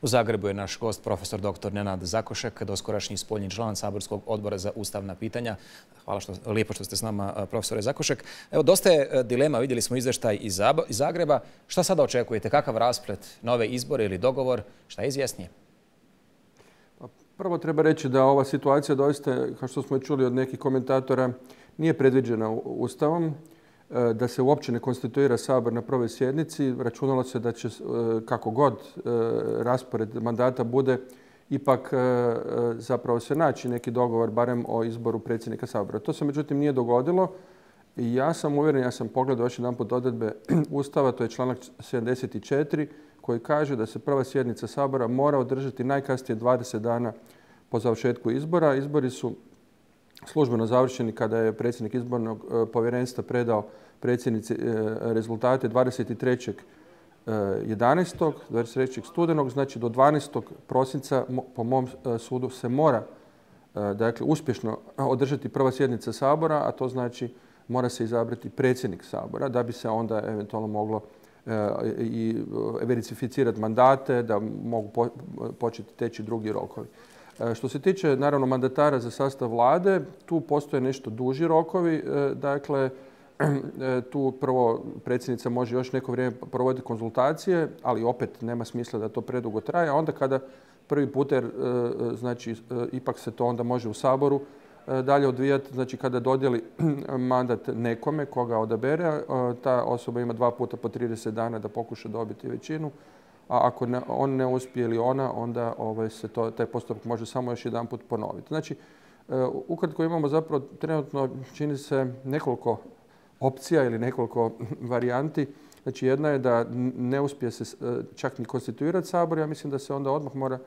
U Zagrebu je naš gost profesor dr. Nenad Zakošek, doskorašnji spoljni član Saborskog odbora za ustavna pitanja. Hvala lijepo što ste s nama, profesore Zakošek. Evo, dosta je dilema, vidjeli smo izvještaj iz Zagreba. Šta sada očekujete? Kakav rasplet? Nove izbore ili dogovor? Šta je izvjesnije? Prvo treba reći da ova situacija doista, kao što smo čuli od nekih komentatora, nije predviđena Ustavom, da se uopće ne konstituira Sabor na prvoj sjednici. Računalo se da će, kako god raspored mandata bude, ipak zapravo se naći neki dogovor, barem o izboru predsjednika Sabora. To se međutim nije dogodilo. I ja sam uvjeren, ja sam pogledao još jedanput odredbe Ustava, to je članak 74, koji kaže da se prva sjednica Sabora mora održati najkasnije 20 dana po završetku izbora. Izbori su službeno završeni kada je predsjednik izbornog povjerenstva predao predsjednici rezultate 23. 23. studenog, znači do 12. prosinca po mom sudu se mora uspješno održati prva sjednica Sabora, a to znači mora se izabrati predsjednik Sabora da bi se onda eventualno moglo i verificirati mandate, da mogu početi teći drugi rokovi. Što se tiče naravno mandatara za sastav vlade, tu postoje nešto duži rokovi. Dakle, tu prvo predsjednica može još neko vrijeme provoditi konzultacije, ali opet nema smisla da to predugo traje. A onda kada prvi puta, znači ipak se to onda može u Saboru dalje odvijati, znači kada dodijeli mandat nekome koga odabere, ta osoba ima 2 puta po 30 dana da pokuša dobiti većinu. A ako on ne uspije ili ona, onda se taj postupak može samo još jedan put ponoviti. Znači, ukratko imamo zapravo trenutno, čini se, nekoliko opcija ili nekoliko varijanti. Znači, jedna je da ne uspije se čak ni konstituirati Sabor. Ja mislim da se onda odmah mora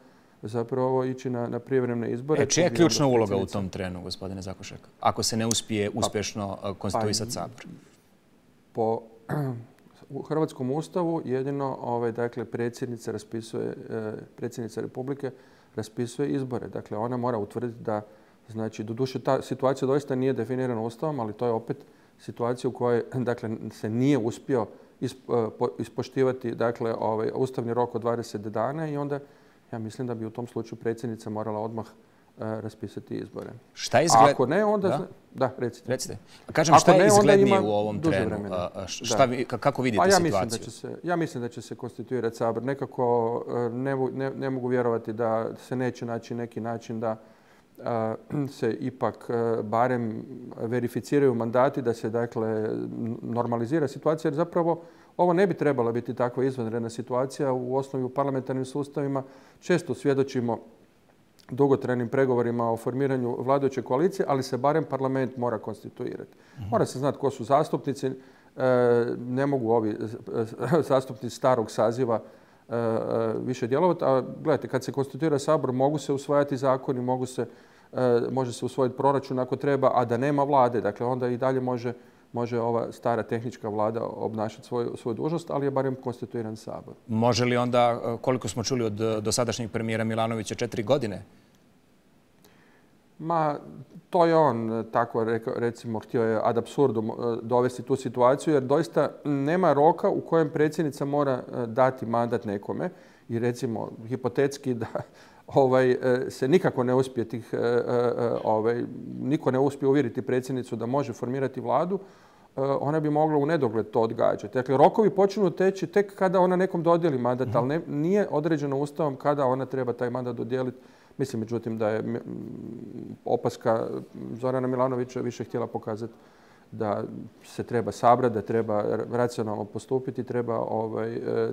zapravo ići na prijevremene izbore. Čija je ključna uloga u tom trenu, gospodine Zakošek, ako se ne uspije uspješno konstituisati Sabor? Po u Hrvatskom ustavu jedino predsjednica Republike raspisuje izbore. Dakle, ona mora utvrditi da, znači, doduše ta situacija doista nije definirana Ustavom, ali to je opet situacija u kojoj se nije uspio ispoštivati ustavni rok od 20 dana i onda ja mislim da bi u tom slučaju predsjednica morala odmah raspisati izbore. Šta izgleda? Ako ne, onda... Da, recite. Kažem, šta je izglednije u ovom trenu? Kako vidite situaciju? Ja mislim da će se konstituirati Sabor. Nekako ne mogu vjerovati da se neće naći neki način da se ipak barem verificiraju mandati, da se normalizira situacija, jer zapravo ovo ne bi trebala biti takva izvanredna situacija. U osnovi u parlamentarnim sustavima često svjedočimo dugotrajnim pregovorima o formiranju vladajuće koalicije, ali se barem parlament mora konstituirati. Mora se znati ko su zastupnici. Ne mogu ovi zastupnici starog saziva više djelovati. A gledajte, kad se konstituira Sabor, mogu se usvajati zakoni, može se usvojiti proračun ako treba, a da nema vlade. Dakle, onda i dalje može ova stara tehnička vlada obnašati svoju dužnost, ali je barem konstituiran Sabor. Može li onda, koliko smo čuli od dosadašnjeg premijera Milanovića, 4 godine? Ma, to je on tako, recimo, htio je ad absurdum dovesti tu situaciju, jer doista nema roka u kojem predsjednica mora dati mandat nekome i recimo hipotetski da se nikako ne uspije niko ne uspije uvjeriti predsjednicu da može formirati vladu, ona bi mogla u nedogled to odgađati. Dakle, rokovi počinju teći tek kada ona nekom dodijeli mandat, ali nije određeno Ustavom kada ona treba taj mandat dodijeliti. Mislim, međutim, da je opaska Zorana Milanovića više htjela pokazati da se treba sabrati, da treba racionalno postupiti, treba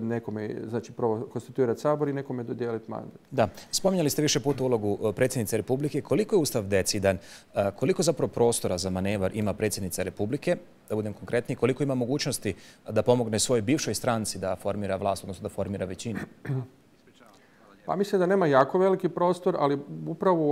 nekome, znači prvo konstituirati Sabor i nekome dodijeliti mandat. Da. Spominjali ste više puta ulogu predsjednice Republike. Koliko je Ustav decidan? Koliko zapravo prostora za manevar ima predsjednica Republike? Da budem konkretniji, koliko ima mogućnosti da pomogne svojoj bivšoj stranci da formira vlast, odnosno da formira većinu? Pa mislim da nema jako veliki prostor, ali upravo u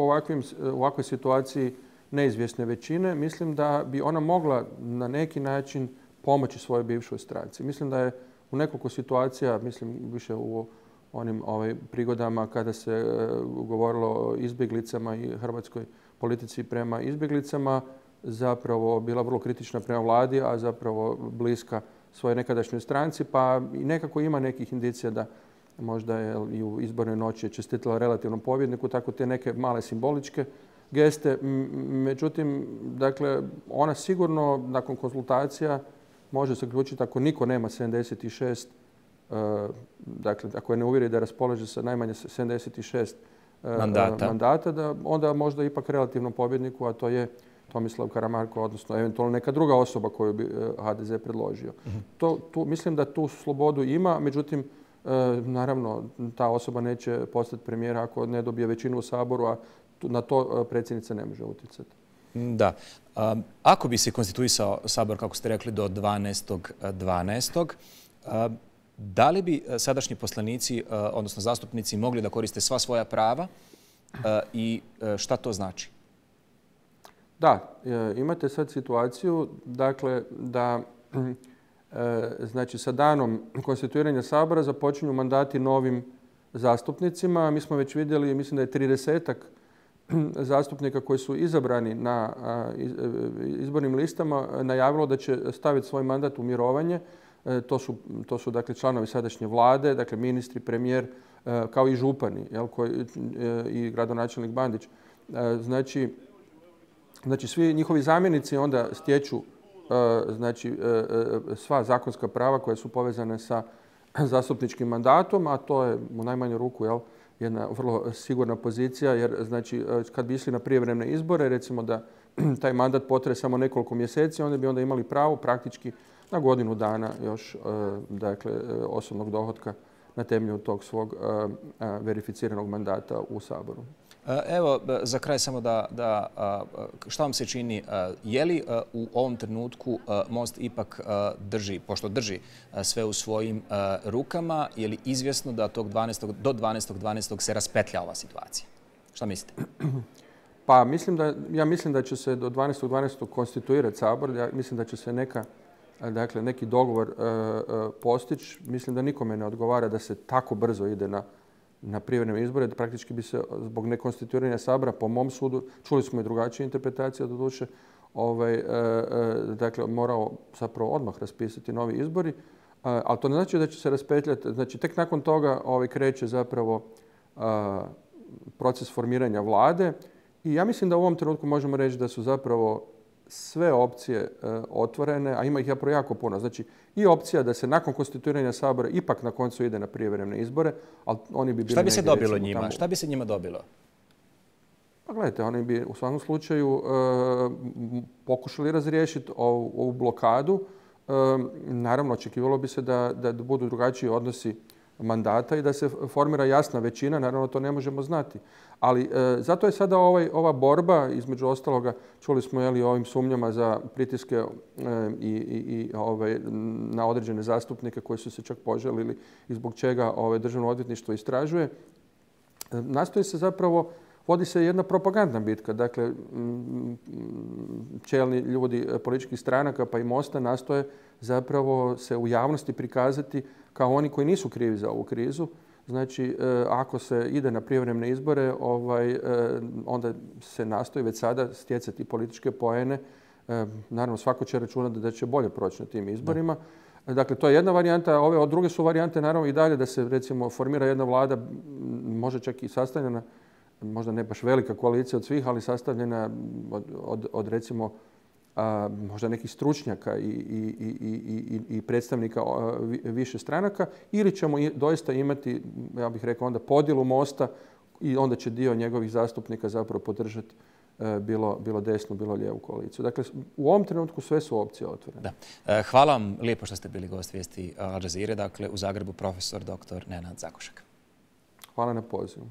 ovakvoj situaciji neizvjesne većine, mislim da bi ona mogla na neki način pomoći svojoj bivšoj stranci. Mislim da je u nekoliko situacija, mislim više u onim prigodama kada se govorilo o izbjeglicama i hrvatskoj politici prema izbjeglicama, zapravo bila vrlo kritična prema vladi, a zapravo bliska svojoj nekadašnjoj stranci, pa i nekako ima nekih indicija da možda je i u izbornoj noći je čestitala relativnom pobjedniku, tako te neke male simboličke geste. Međutim, dakle, ona sigurno nakon konzultacija može se zaključiti ako niko nema 76, dakle, ako je ne uvjeri da raspolaže sa najmanje 76 mandata, da onda možda ipak relativnom pobjedniku, a to je Tomislav Karamarko, odnosno eventualno neka druga osoba koju bi HDZ predložio. Mislim da tu slobodu ima, međutim, naravno, ta osoba neće postati premijera ako ne dobije većinu u Saboru, a na to predsjednica ne može utjecati. Da. Ako bi se konstituisao Sabor, kako ste rekli, do 12.12., da li bi sadašnji poslanici, odnosno zastupnici, mogli da koriste sva svoja prava i šta to znači? Da, imate sad situaciju, dakle, da znači sa danom konstituiranja Sabora započinju mandati novim zastupnicima. Mi smo već vidjeli, mislim da je 30-ak zastupnika koji su izabrani na izbornim listama najavilo da će staviti svoj mandat u mirovanje. To su dakle članovi sadašnje vlade, dakle ministri, premijer, kao i župani i gradonačelnik Bandić. Znači svi njihovi zamjenici onda stječu sva zakonska prava koja su povezane sa zastupničkim mandatom, a to je u najmanju ruku jedna vrlo sigurna pozicija, jer znači kad bi išli na prijevremene izbore, recimo da taj mandat potraje samo nekoliko mjeseci, onda bi onda imali pravo praktički na godinu dana još dakle, osobnog dohotka na temelju tog svog verificiranog mandata u Saboru. Evo, za kraj samo šta vam se čini, je li u ovom trenutku Most ipak drži, pošto drži sve u svojim rukama, je li izvjesno da do 12.12. se raspetlja ova situacija? Šta mislite? Pa ja mislim da će se do 12.12. konstituirati Sabor. Ja mislim da će se neki dogovor postići. Mislim da nikome ne odgovara da se tako brzo ide na prijevremene izbore. Praktički bi se zbog nekonstituiranja Sabora, po mom sudu, čuli smo i drugačije interpretacije doduše, dakle morao zapravo odmah raspisati novi izbori. Ali to ne znači da će se raspetljati. Znači tek nakon toga kreće zapravo proces formiranja vlade. I ja mislim da u ovom trenutku možemo reći da su zapravo sve opcije otvorene, a ima ih jako puno. Znači i opcija da se nakon konstituiranja Sabora ipak na koncu ide na prijevremene izbore, ali oni bi bili... Šta bi se dobilo njima? Šta bi se njima dobilo? Pa gledajte, oni bi u svakom slučaju pokušali razriješiti ovu blokadu. Naravno, očekivalo bi se da budu drugačiji odnosi mandata i da se formira jasna većina, naravno to ne možemo znati. Ali zato je sada ova borba, između ostaloga, čuli smo o ovim sumnjama za pritiske na određene zastupnike koji su se čak požalili i zbog čega Državno odvjetništvo istražuje. Nastoji se zapravo, vodi se jedna propagandna bitka. Dakle, čelni ljudi političkih stranaka pa i Mosta nastoje zapravo se u javnosti prikazati kao oni koji nisu krivi za ovu krizu. Znači, ako se ide na prijevremene izbore, onda se nastoji već sada stjecati političke poene. Naravno, svako će računati da će bolje proći na tim izborima. Dakle, to je jedna varijanta. Ove druge su varijante, naravno, i dalje da se, recimo, formira jedna vlada, može čak i sastavljena, možda ne baš velika koalicija od svih, ali sastavljena od recimo, možda nekih stručnjaka i predstavnika više stranaka, ili ćemo doista imati, ja bih rekao, onda podjelu Mosta i onda će dio njegovih zastupnika zapravo podržati bilo desnu, bilo lijevu koaliciju. Dakle, u ovom trenutku sve su opcije otvorene. Hvala vam lijepo što ste bili gost vijesti Al Jazeere, dakle u Zagrebu profesor dr. Nenad Zakošek. Hvala na pozivu.